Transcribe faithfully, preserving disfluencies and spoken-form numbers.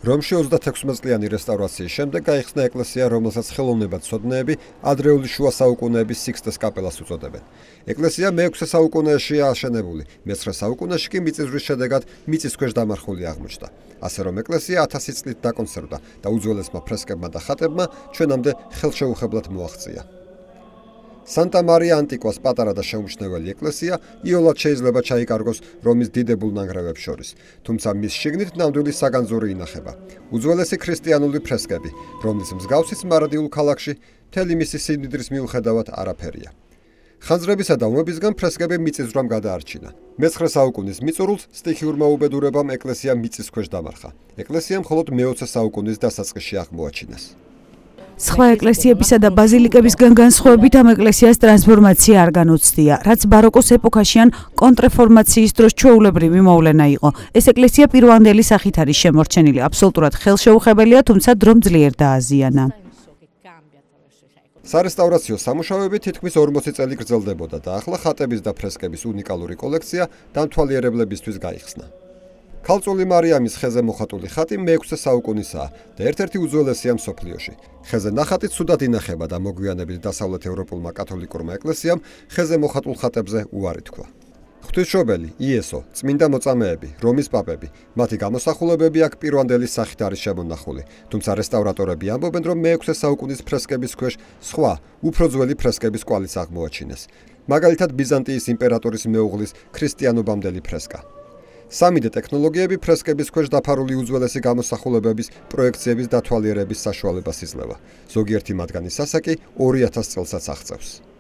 რომში ოცდათექვსმეტ წლიანი რესტავრაციის შემდეგ გაიხსნა ეკლესია, რომელსაც ხელოვნებად ცოდნეები ადრეული შუა საუკუნეების სიქსტეს კაპელას უწოდებენ. ეკლესია მეექვსე საუკუნეშია აშენებული, მეცხრე საუკუნეში კი მიწისძვრის შედეგად მიწის ქვეშ დამარხული აღმოჩნდა. ასე რომ ეკლესია ათასი წლით დაკონსერვდა და უძველესმა ფრესკებმა და ხატებმა ჩვენამდე ხელშეუხებლად მოაღწია. სანტა მარია ანტიკვას პატარა და შეუმჩნეველი ეკლესია იოლად შეიძლება ჩაიკარგოს რომის დიდებულ ნანგრევებს შორის, თუმცა მის შიგნით ნამდვილი საგანძური ინახება. უძველესი ქრისტიანული ფრესკები, რომლის მსგავსიც მარადიულ ქალაქში მთელი მისი სიმდიდრის მიუხედავად არაფერია. ხანძრებისა და ომებისგან ფრესკები მიწისძვრამ გადაარჩინა. მეცხრე საუკუნის მიწურულს სტიქიურმა უბედურებამ ეკლესია მიწის ქვეშ დამარხა. ეკლესია მხოლოდ მეოცე საუკუნის დასაწყისში აღმოაჩინეს. სხვა ეკლესიებისა და ბაზილიკებისგან განსხვავებით ამ ეკლესიას ტრანსფორმაცია არ განუცდია, რაც ბაროკოს ეპოქაში ან კონტრრეფორმაციის დროს ჩვეულებრივი მოვლენა იყო. ეს ეკლესია პირვანდელი სახით არის შემორჩენილი, აბსოლუტურად ხელშეუხებელია, თუმცა დრომ ძლიერ დააზიანა. სარესტავრაციო სამუშაოები თითქმის ორმოცი წელი გრძელდებოდა და ახლა ხატების და ფრესკების უნიკალური კოლექცია დამთვალიერებლებისთვის გაიხსნა. ქალწული მარიამის ხეზე მოხატული ხატი მეექვსე საუკუნისაა და ერთ-ერთი უძველესია მსოფლიოში. ხეზე ნახატი ცუდად ინახება და მოგვიანებით დასავლეთ ევროპულმა კათოლიკურმა ეკლესიამ ხეზე მოხატულ ხატებზე უარი თქვა. ღვთისმშობელი, იესო, წმინდა მოწამეები, რომის პაპები, მათი გამოსახულებები აქ პირვანდელი სახით არის შემონახული, თუმცა რესტავრატორები ამბობენ, რომ მეექვსე საუკუნის ფრესკების ქვეშ სხვა, უფრო ძველი ფრესკების კვალიც აღმოაჩინეს. მაგალითად ბიზანტიის იმპერატორის მეუღლის ქრისტიანობამდელი ფრესკა. სამი დე ტექნოლოგიები ფრესკების ქვეშ დაფარული უძველესი გამოსახულებების პროექციების დათვალიერების საშუალებას იძლევა. ზოგიერთი მათგანის ასაკი ორი ათას წელსაც აღწევს.